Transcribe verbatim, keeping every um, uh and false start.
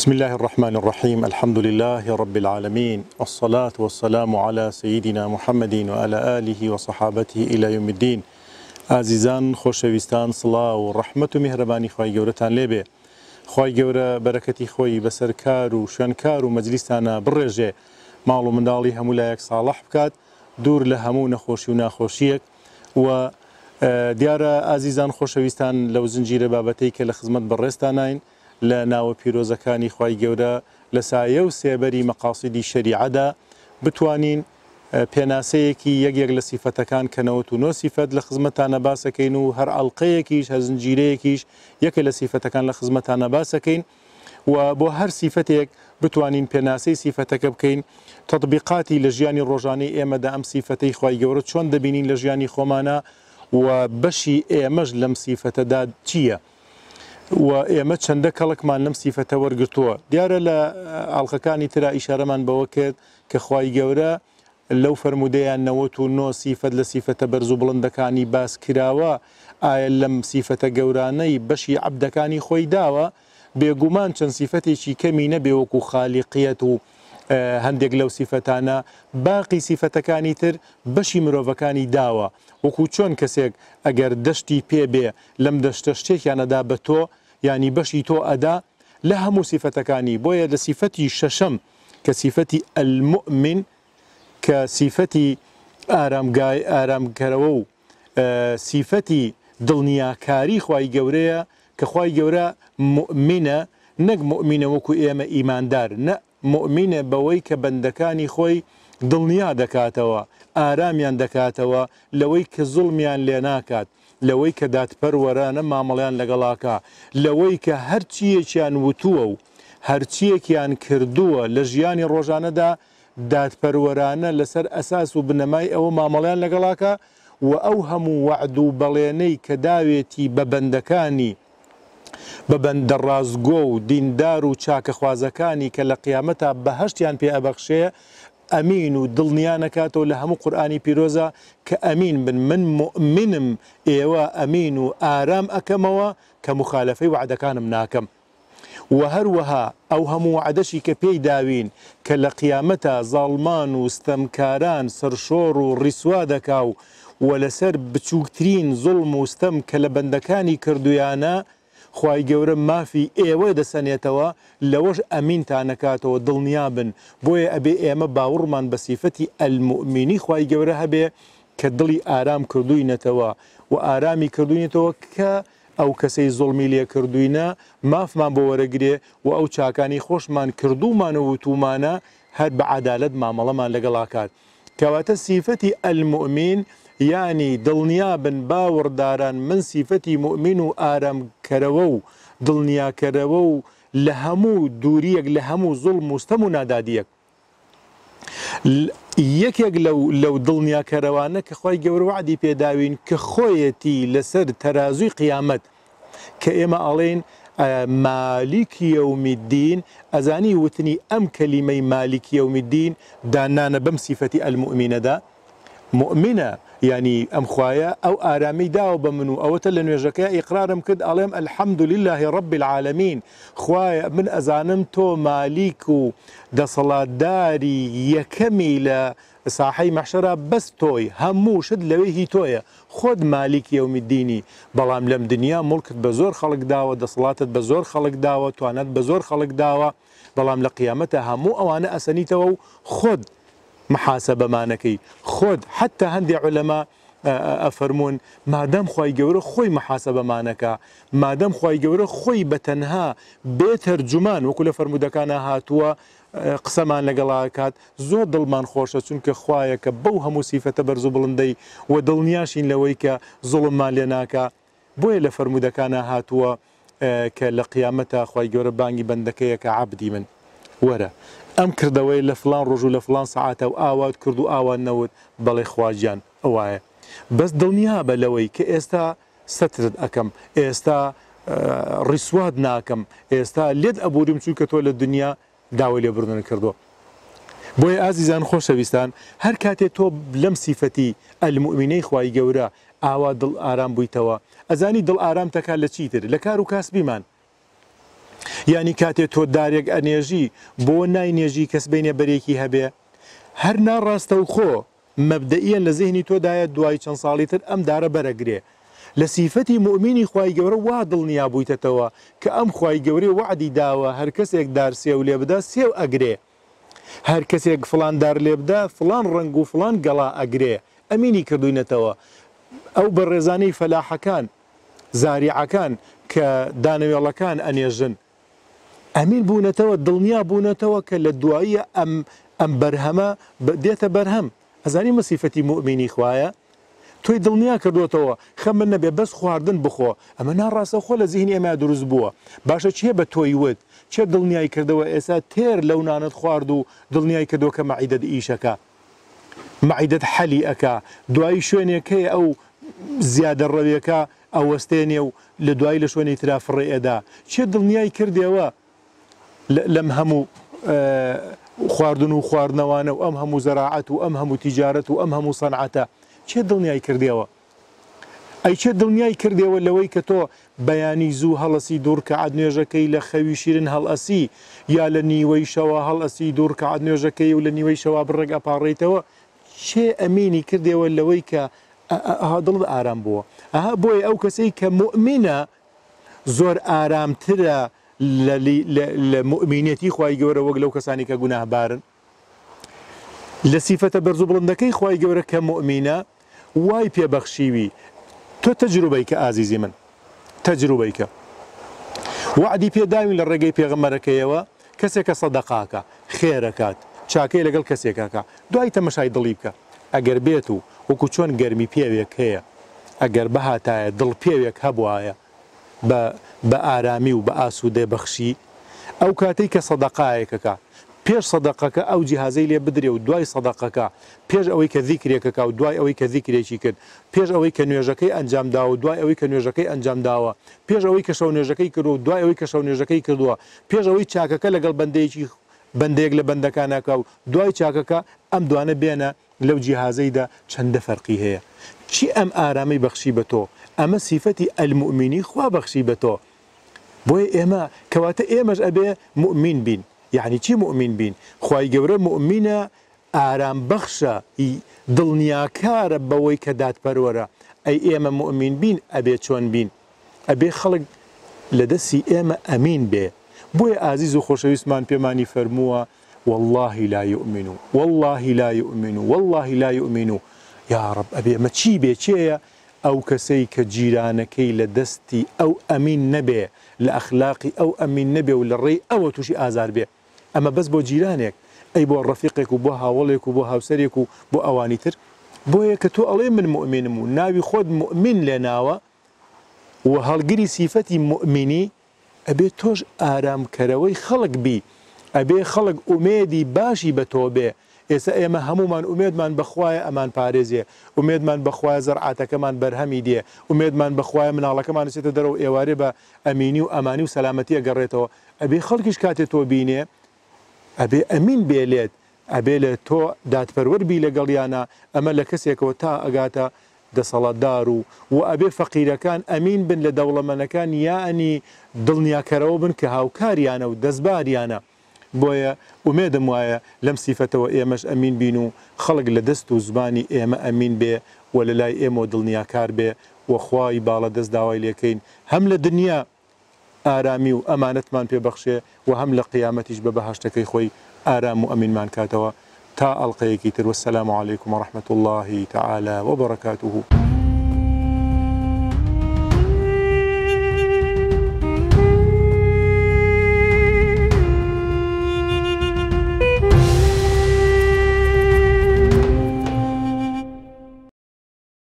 بسم الله الرحمن الرحيم الحمد لله رب العالمين الصلاة والسلام على سيدنا محمد وعلى آله وصحابته إلى يوم الدين. ئازیزان خۆشەویستان، سڵاو و ڕەحمەت و میهرەبانی خوای گەورەتان لێبێ. خوای گەورە بەرەکەتی خۆی بەسەر کار و شوێنکار و مەجلیستانە بڕێژێ، ماڵ و منداڵی هەموو لایەک ساڵح بکات، دوور لە هەموو نەخۆشی و ناخۆشیەک. و دیارە ئازیزان خۆشەویستان لەو زنجیرە بابەتەی کە لە خزمەت بەڕێزتاناین لە ناوە پیرۆزەکانی خوای گەورە لە سایە و سێبەری مەقاسیدی شەریعەدا بتوانین پێناسەیەکی یەک یەک لە سیفەتەکان کە نەوەت و نۆ سیفەت لە خزمەتانە باسەکەین و هەر ئەڵلقەیەکیش هەر زنجیرەیەکیش یەکە لە سیفەتەکان لە خزمەتانە باسەکەین و بۆ هەر سیفەتێک بتوانین پێناسەی سیفەتەکە بکەین، تطبیقاتی لە ژیانی ڕۆژانەی ئێمەدا ئەم سیفەتەی خوای گەورە چۆن دەبینین لە ژیانی خۆمانە و بەشی ئێمەش لەم سیفەتەدا چییە و ئێمە چەندە کەڵکمان لەم سیفەتە وەرگرتووە. دیارە لە ئاڵلقەکانی ترا ئیشارەمان بەوە کرد کە خوای گەورە لەو فەرمودەیان نەوەت و نۆ سیفەت لە سیفەتە بەرز و بڵندەکانی باس کراوە، ئایا لەم سیفەتە گەورانەی بەشی عەبدەکانی خۆی داوە؟ بێگومان چەند سیفەتێکی کەمی نەبێ وەکو خالیقیەت و هەندێک لەو سیفەتانە، باقی سیفەتەکانی تر بەشی مرۆڤەکانی داوە. وەکو چۆن کەسێک ئەگەر دەشتی پێ بێ لەم دەشتە شتێکیان ئەدا بە تۆ، یعنی بەشی تۆ ئەدا لە هەموو سیفەتەکانی. بۆیە لە سیفەتی شەشەم کە سیفەتی المؤمن کە سیفەتی ئارامگای ئارامکەرەوە و سیفەتی دڵنیاکاری خوای گەورەیە کە خوای گەورە مؤمنە، نەک مؤمنە وەکو ئێمە ئیماندار، نە مؤمنە بەوەی کە بەندەکانی خۆی دڵنیا دەکاتەوە، ئارامیان دەکاتەوە لەوەی کە زوڵمیان لێ ناکات، لەوەی کە دادپەروەرانە مامەڵیان لەگەڵاکە، لەوەی کە هەرچیەکیان وتووە و هەرچیەکیان کردووە لە ژیانی ڕۆژانەدا دادپەروەرانە لەسەر ئەساس و بنەمای ئەوە مامەڵیان لەگەڵاکە و ئەو هەموو وەعد و بەڵێنەی کە داوێتی بە بەندەکانی، بە بەندە ڕازگۆ و دیندار و چاکەخوازەکانی کە لە قیامەتا بەهەشتیان پێ ئەبەخشێ، ئەمین و دڵنیانەکاتەوە لە هەموو قورئانی پیرۆزە کە ئەمین بن، من مؤمنم، ئێوە ئەمین و ئارام ئەکەمەوە کە مخالفەی وعدەکانم ناکەم. و هەروەها ئەو هەموو وعدەشی کە پێی داوین کە لە قیامەتا زاڵمان و ستەمکاران سەرشۆڕ و ڕیسوا دەکا و و لەسەر بچووکترین زوڵم و ستەم کە لە بەندەکانی کردویانە خوای گەورە مافی ئێوە دەسەنێتەوە، لەوەش ئەمینتانەکاتەوە، دڵنیابن. بۆیە ئەبێ ئێمە باوەڕمان بە سیفەتی ئەلمؤمنی خوای گەورە هەبێ کە دڵی ئارام کردوینەتەوە و ئارامی کردوینەتەوە کە ئەو کەسەی زوڵمی لێ کردوینە مافمان بۆ وەرەگرێ و ئەو چاکانی خۆشمان کردومان و وتومانە هەر بە عەدالەت مامەڵەمان لەگەڵاکات. کەواتە سیفەتی ئەلمؤمن یعنی دڵنیابن باوەڕداران من سیفەتی مؤمن و ئارامکەرەوە و دڵنیاکەرەوە و لە هەموو دووریەک لە هەموو زوڵم و ستەم و نادادیەک. یەکێک لەو لەو دڵنیاکەرەوانە کە خوای گەورە وعدی پێداوین کە خۆیەتی لەسەر تەرازووی قیامەت کە ئێمە ئەڵێین مالیک یەوم الدین، ئەزانی وتنی ئەم کەلیمەی مالیک یەوم الدین دانانە بەم سیفەتی ئەلمؤمنەدا. مؤمنە یعنی ئەم خوایە ئەو ئارامی داوە بە من و ئەوەتە لە نوێژەکەی ئیقرارم کرد ئەڵێم الحمد لله رب العالمین، خوایە من ئەزانم تۆ مالیک و دەسەڵاتداری یەکەمی لە ساحەی مەحشەرا بەس تۆی، هەموو شت لەوێ هی تۆیە، خۆت مالیک یەوم الدینی. بەڵام لەم دنیا مڵکت بە زۆر خەڵک داوە، دەسەڵاتت بە زۆر خەڵک داوە، توانەت بە زۆر خەڵک داوە، بەڵام لە قیامەتە هەموو ئەوانە ئەسەنیتەوە و خۆت محاسبەمانەکەی خۆت. حتی هەندێ عولەما ئەفەرموون مادەم خوای گەورە خۆی محاسبەمانەکە، مادەم خوای گەورە خۆی بە تەنها بێ تەرجومان وەکو لە فەرموودەکانە هاتووە قسەمان لەگەڵاکات، زۆر دڵمان خۆشە چونکە خوایە کە بەو هەموو سیفەتە بەرز و بڵندەی و دڵنیاشین لەوەی کە زوڵممان لێ ناکا. بۆیە لە فەرموودەکانە هاتووە کە لە قیامەتە خوای گەورە بانگی بەندەکەیە کە عەبدی من وەرە ئەم کردەوەی لە فلان ڕۆژ و لە فلان سەعاتە و ئاوات کرد و ئاوان نەوت، بەڵێ خواجیان ئەوایە. بەس دڵنیابە لەوەی کە ئێستا سەترت ئەکەم، ئێستا ڕیسوات ناکەم، ئێستا لێت ئەبوریم چونکە تۆ لە دنیا داوای لێبوردن کردووە. بۆیە ئازیزان خۆشەویستان هەر کاتێ تۆ لەم سیفەتی ئەلمؤمنەی خوای گەورە ئاوا دڵ ئارام بوویتەوە، ئەزانی دڵ ئارام تەکا لە چیتر؟ لە کار و کاسبیمان. یعنی کاتێ تۆ دارێک ئەنێژی بۆ ناینێژی کەس بینێ بەرێکی هەبێ، هەر ناڕاستەوخۆ مەبدەئیەن لە زیهنی تۆدایە دوای چەند ساڵی تر ئەم دارە بەرەگرێ. لە سیفەتی موئمینی خوای گەورە وا دڵنیا بوویتەتەوە کە ئەم خوای گەورەی وەعدی داوە هەر کەسێک دار سێو لێ بدا سێو ئەگرێ، هەر کەسێک فڵان دار لێ بدا فڵان ڕەنگ و فڵان گەڵا ئەگرێ، ئەمینی کردوینەتەوە. ئەو بەڕێزانەی فەلاحەکان زاریعەکان کە دانەوێڵەکان ئەنێژن ئەمین بوونەتەوە، دڵنیا بوونەتەوە کە لە دواییە ئەم ئەم بەرهەمە دێتە بەرهەم. ئەزانی مەسیفەتی موئمینی خوایە تۆی دڵنیا کردوتەوە خەمن نەبێ بەس خواردن بخۆ. ئەمە ناڕاستەوخۆ لە زیهنی ئێمە دروست بووە. باشە چێ بە تۆی وت، چێ دڵنیای کردەوە ئێستا تێر لەو نانت خوارد و دڵنیای کردەوە کە مەعیدەت ئیشەکە، مەعیدەت حەلی ئەکا، دوایی شوێنێک هەیە ئەو زیادە ڕەویەکە ئەوەستێنێ و لە دوایی لە شوێنی ترا فڕێ ئێدا. چێ دڵنیای کردەوە لەم هەموو خواردن و خواردنەوانە و ئەم هەموو زەراعەت و ئەم هەموو تیجارەت و ئەم هەموو سەنعەتە؟ چێ دڵنیای کردەوە؟ ئەی چێ دڵنیای کردەوە لەوەی کە تۆ بەیانی زوو هەڵەسی دوو ڕکەعات نوێژەکەی لە خەوی شیرن هەڵئەسی، یا لە نیوەی شەوە هەڵئەسی دوو ڕکەعات نوێژەکەی و لە نیوەی شەوە بڕێک ئەپاڕێیتەوە؟ چێ ئەمینی کردەوە لەوەی کە ئەها دڵت ئارام بووە؟ ئەها بۆیە ئەو کەسەی کە موئمینە زۆر ئارامترە لە موئمینەتی خوای گەورە وەک لەو کەسانی کە گوناهبارن. لە سیفەتە بەرز و بڵندەکەی خوای گەورە کە موئمینە وای پێبەخشیوی. تۆ تەجروبەی کە ئازیزی من، تەجروبەی کە وعدی پێداوین لە ڕێگەی پێغەمبەرەکەیەوە کەسێکە سەدەقاکە، خێرەکات، چاکەی لەگەڵ کەسێکاکە، دوای تەمەشای دڵی بکە. ئەگەر بێت و وەکو چۆن گەرمی پێوێک هەیە، ئەگەر بەهاتایە دڵ پێوێک هەبوایە بە ئارامی و بە ئاسوودە بەخشی، ئەو کاتەی کە سەدەقایەکەکە پێش سەدەقەکە ئەو جیهازەی لێ بدرێ و دوای سەدەقەکە پێش ئەوەی کە ذیکرێکەکە و دوای ئەوەی کە ذیکرێکی کرد، پێش ئەوەی کە نوێژەکەی ئەنجام داوە و دوای ئەوەی کە نوێژەکەی ئەنجام داوە، پێش ئەوەی کە شەو نوێژەکەی کردووە و دوای ئەوەی کە شەو نوێژەکەی کردووە، پێش ئەوەی چاکەکە لەگەڵ بەندەیەکی بەندەیەک لە بەندەکانەکە و دوای چاکەکە، ئەم دوانە بێنە لەو جیهازەیدا چەندە فەرقی هەیە. چی ئەم ئارامەی بەخشی بە تۆ؟ ئەمە سیفەتی ئەلموئمینی خوا بەخشی بە تۆ. بۆیە ئێمە کەواتە ئێمەش ئەبێ مؤمین بین. یعنی چی مؤمین بین؟ خوای گەورە مؤمینە ئارام بەخشە، دڵنیاکارە بەوەی کە دادپەروەرە. ئەی ئێمە مؤمین بین ئەبێ چۆن بین؟ ئەبێ خەڵک لە دەستی ئێمە ئەمین بێ. بۆیە ئازیز و خۆشەویستمان پێمانی فەرمووە والله لا يؤمن والله لا يؤمن والله لا يؤمن. یا رب ئەبێ ئەمە چی بێ؟ چێیە؟ ئەو کەسەی کە جیرانەکەی لە دەستی ئەو ئەمین نەبێ، لە ئەخلاقی ئەو ئەمین نەبێ و لە ڕێی ئەوە تووشی ئازار بێ. ئەمە بەس بۆ جیرانێک، ئەی بۆ ڕەفیقێک و بۆ هاوڵێک و بۆ هاوسەرێک و بۆ ئەوانی تر. بۆیە کە تۆ ئەڵێ من مؤمنم و ناوی خۆت مؤمن لێناوە و هەڵگری سیفەتی مؤمنی، ئەبێ تۆش ئارامکەرەوەی خەڵک بی، ئەبێ خەڵک ئومێدی باشی بە تۆ بێ. ئێستا ئێمە هەمومان ئومێدمان بەخوایە ئەمان پارێزێ، ئومێدمان بەخوایە زەرعاتەکەمان بەرهەمی دێ، ئومێدمان بەخوایە مناڵەکەمان چێتە دەرەوە ئێوارێ بە ئەمینی و ئەمانی و سەلامەتی ئەگەڕێتەوە. ئەبێ خەڵکیش کاتێ تۆ بینێ ئەبێ ئەمین بێلێت، ئەبێ لە تۆ دادپەروەر بی لەگەڵیانە. ئەمە لە کەسێکەوە تا ئەگاتە دەسەڵاتدار و و ئەبێ فەقیرەکان ئەمین بن لە دەوڵەمەنەکان، یانی دڵنیاکەرەوە بن کە هاوکاریانە و دەستباریانە. بۆیە ئومێدم وایە لەم سیفەتەوە ئێمەش ئەمین بین و خەڵک لە دەست و زمانی ئێمە ئەمین بێ و لە لای ئێمە دڵنیاکار بێ و خوای باڵا دەست داوای لێکەین هەم لە دنیا ئارامی و ئەمانەتمان پێبەخشێ و هەم لە قیامەتیش بە بەهەشتەکەی خۆی ئارام و ئەمینمان کاتەوە. تا ئەڵقەیەکی تر، والسلام عليكم ورحمة الله تعالى وبركاته.